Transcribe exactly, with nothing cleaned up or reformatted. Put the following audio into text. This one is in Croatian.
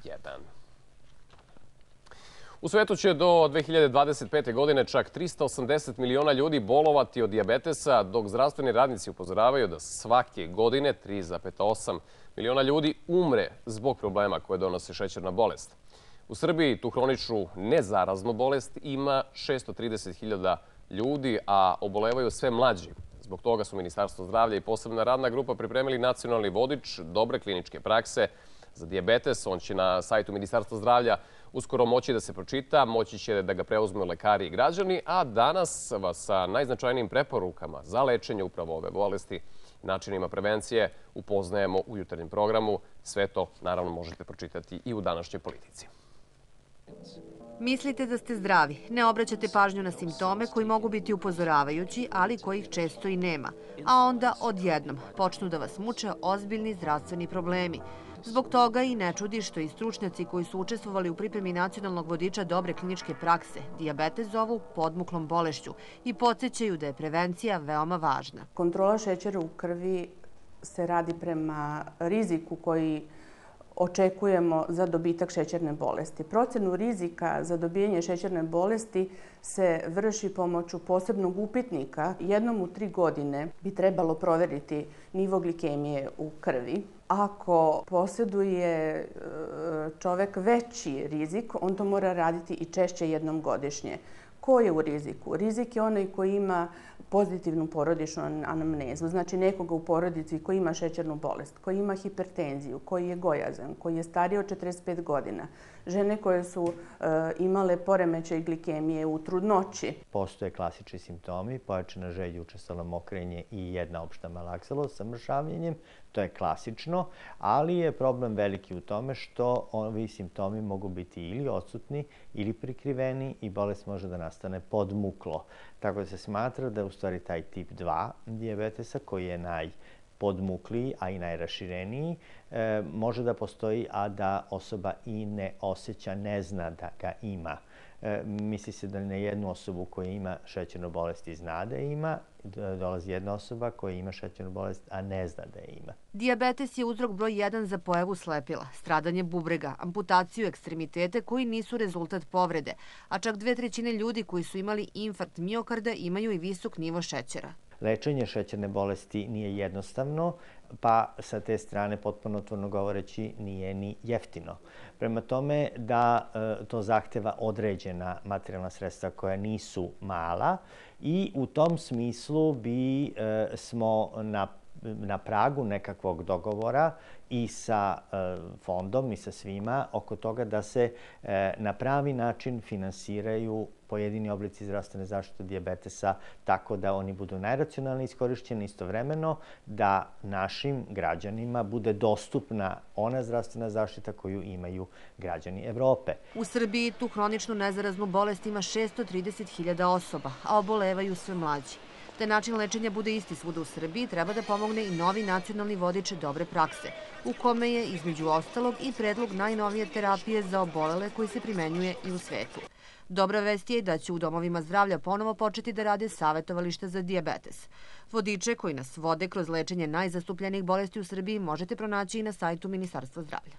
jedan. U svetu će do dve hiljade dvadeset pete. godine čak trista osamdeset miliona ljudi bolovati od dijabetesa, dok zdravstveni radnici upozoravaju da svake godine tri zarez osam miliona ljudi umre zbog problema koje donosi šećerna bolest. U Srbiji tu hroničnu nezaraznu bolest ima šesto trideset hiljada ljudi, a obolevaju sve mlađi. Zbog toga su Ministarstvo zdravlja i posebna radna grupa pripremili nacionalni vodič dobre kliničke prakse za dijabetes. On će na sajtu Ministarstva zdravlja uskoro moći da se pročita, moći će da ga preuzmu lekari i građani, a danas vas sa najznačajnijim preporukama za lečenje upravo ove bolesti i načinima prevencije upoznajemo u jutarnjem programu. Sve to, naravno, možete pročitati i u današnjoj Politici. Mislite da ste zdravi, ne obraćate pažnju na simptome koji mogu biti upozoravajući, ali kojih često i nema. A onda odjednom počnu da vas muče ozbiljni zdravstveni problemi. Zbog toga i ne čudi što i stručnjaci koji su učestvovali u pripremi nacionalnog vodiča dobre kliničke prakse dijabetes zovu podmuklom bolešću i podsjećaju da je prevencija veoma važna. Kontrola šećera u krvi se radi prema riziku koji očekujemo za dobitak šećerne bolesti. Procenu rizika za dobijanje šećerne bolesti se vrši pomoću posebnog upitnika. Jednom u tri godine bi trebalo proveriti nivo glikemije u krvi. Ako posjeduje čovek veći rizik, on to mora raditi i češće jednom godišnje. Ko je u riziku? Rizik je onaj koji ima pozitivnu porodičnu anamnezu, znači nekoga u porodici koji ima šećernu bolest, koji ima hipertenziju, koji je gojazan, koji je stariji od četrdeset pet godina, žene koje su e, imale poremećaj glikemije u trudnoći. Postoje klasični simptomi, pojačana želja, učestalo mokrenje i jedna opšta malaksalost sa mršavljenjem. To je klasično, ali je problem veliki u tome što ovi simptomi mogu biti ili odsutni ili prikriveni i bolest može da nastane podmuklo. Tako da se smatra da je u stvari taj tip dva dijabetesa koji je najpodmukliji, a i najrašireniji, e, može da postoji, a da osoba i ne osjeća, ne zna da ga ima. E, misli se da na jednu osobu koja ima šećernu bolest i zna da je ima, dolazi jedna osoba koja ima šećernu bolest, a ne zna da je ima. Dijabetes je uzrok broj jedan za pojavu slepila, stradanje bubrega, amputaciju ekstremitete koji nisu rezultat povrede, a čak dve trećine ljudi koji su imali infarkt miokarda imaju i visok nivo šećera. Lečenje šećerne bolesti nije jednostavno, pa sa te strane, potpuno otvoreno govoreći, nije ni jeftino. Prema tome da e, to zahteva određena materijalna sredstva koja nisu mala i u tom smislu bi e, smo na na pragu nekakvog dogovora i sa e, fondom i sa svima oko toga da se e, na pravi način finansiraju pojedini oblici zdravstvene zaštite dijabetesa tako da oni budu najracionalnije iskorišćeni, istovremeno da našim građanima bude dostupna ona zdravstvena zaštita koju imaju građani Evrope. U Srbiji tu hroničnu nezaraznu bolest ima šesto trideset hiljada osoba, a obolevaju sve mlađi. Da način lečenja bude isti svuda u Srbiji, treba da pomogne i novi nacionalni vodič dobre prakse, u kome je, između ostalog, i predlog najnovije terapije za obolele koji se primenjuje i u svetu. Dobra vest je da će u domovima zdravlja ponovo početi da rade savjetovališta za dijabetes. Vodiče koji nas vode kroz lečenje najzastupljenijih bolesti u Srbiji možete pronaći i na sajtu Ministarstva zdravlja.